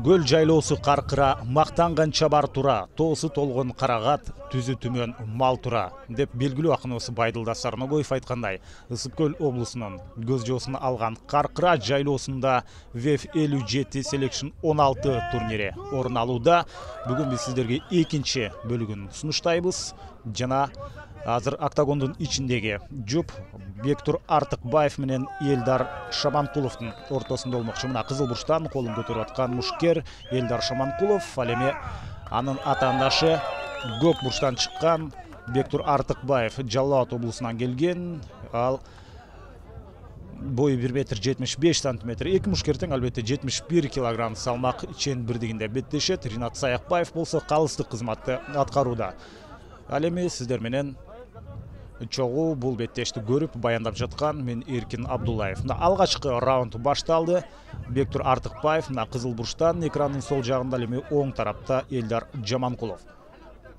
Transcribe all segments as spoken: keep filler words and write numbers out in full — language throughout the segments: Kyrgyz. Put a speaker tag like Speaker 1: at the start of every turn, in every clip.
Speaker 1: Көл жайлоосу каркыра, мактанган чабар тура, тоосу толгон карагат, түзү түмөн мал тура деп белгилүү акыныбыз Байдылда Сарногоев айткандай, Ысык Көл облусунун көз жоосуна алган каркыра жайлоосунда веф элүү жети Selection он алты турнири орун алууда. Бүгүн биз сиздерге экинчи бөлүгүн сунуштайбыз. Жана азыр октагондун ичиндеги жуп Бектур Артыкбаев менен Элдар Шаманкуловдун ортосунда болмокчу. Мына кызыл бурчтан колун көтөрүп аткан мушкер Элдар Шаманкулов, ал эми анын атаандашы көк бурчтан чыккан Бектур Артыкбаев Жалал Абад облусунан келген. Ал бою бир метр жетимиш беш сантиметр. Эки мушкер тең, албетте жетимиш бир килограмм салмак чен бирдигинде беттешет. Ринат Саякбаев болсо калыстык кызматты аткарууда. Ал эми сиздер менен чогуу бул беттешти көрүп баяндап жаткан мен Эркин Абдуллаев. Мына алгачкы раунд башталды. Бектур Артыкбаев мына кызыл бурчтан, экрандын сол жагында, ал эми оң тарапта Элдар Жаманкулов.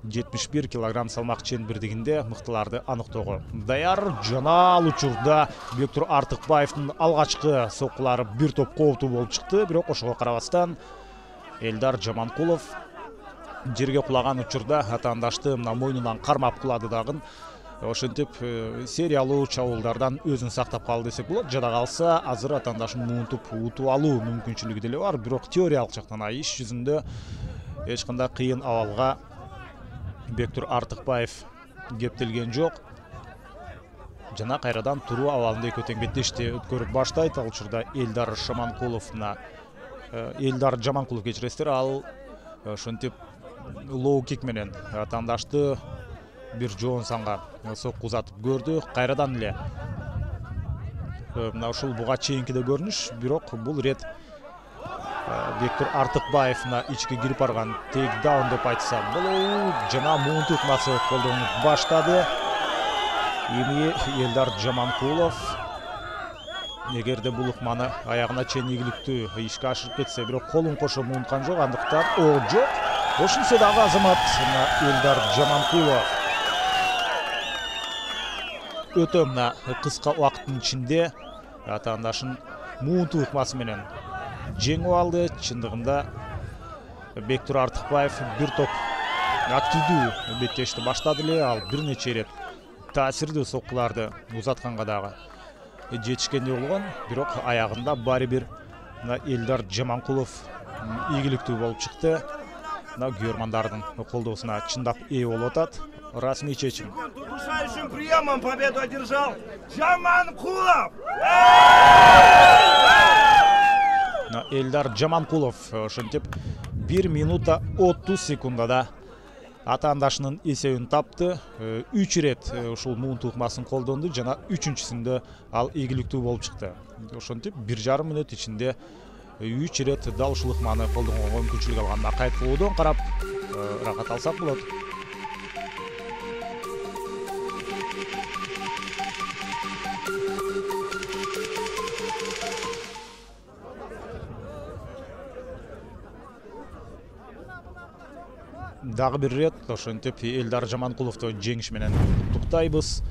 Speaker 1: жетимиш бир килограмм салмак чен бирдигинде мыктыларды аныктоого даяр. Жана ал учурда Бектур Артыкбаевдин алгачкы соккулары бир топ кооптуу болуп чыкты, бирок ошого карабастан Элдар Жаманкулов жерге кулаган учурда атаандашты мына мойнунан кармап кулады дагы. Ошентип сериялуу чабуулдардан өзүн сактап калды десек болот. Жада калса азыр атаандашын муунтуп утуп алуу мүмкүнчүлүгү деле бар, бирок теориялык жактан иш жүзүндө эч кандай кыйын абалга Бектур Артыкбаев кептелген жок. Жана кайрадан туруу абалында экөө тең беттешти өткөрүп баштайт. Ал учурда Элдар Шаманкуловна Элдар Жаманкулов кечиресиздер, ал ошентип лоу кик менен атаандашты бир жоон санга сокку узатып көрдү. Кайрадан эле мына ушул буга чейинки да көрүнүш, бирок бул ирет Бектур Артыкбаев мына ичке кирип барган тейкдаун деп айтса болот. Жана муунту ыкмасы колдонуп баштады. Эми Элдар Жаманкулов эгерде бул ыкманы аягына чейин ийгиликтүү ишке ашырып кетсе, бирок колун кошо муунткан жок, андыктан о жок. Ошентсе дагы азамат Элдар Жаманкулов өтө мына кыска убакыттын ичинде атаандашын муунту ыкмасы менен жеңип алды. Чындыгында Бектур Артыкбаев бир топ активдүү беттешти баштады эле. Ал бир нече ирет таасирдүү соккуларды узатканга дагы жетишкендей болгон, бирок аягында баары бир Элдар Жаманкулов ийгиликтүү болуп чыкты. Мына көрмандардын колдоосуна чындап ээ болуп атат. Расмий чечим.
Speaker 2: Удушающим приемом победу одержал Жаманкулов.
Speaker 1: Элдар Жаманкулов ошентип бир минута отуз секундада атаандашынын эсебин тапты. үч ирет ушул муунту ыкмасын колдонду жана үчүнчүсүндө ал ийгиликтүү болуп чыкты. Ошентип бир жарым мүнөт ичинде үч ирет дал ушул ыкманы колдонгонго мүмкүнчүлүк алган. Кайткылоодон карап рахат алсак болот. Дагы бир ирет ошентип Элдар Жаманкуловду жеңиш менен куттуктайбыз.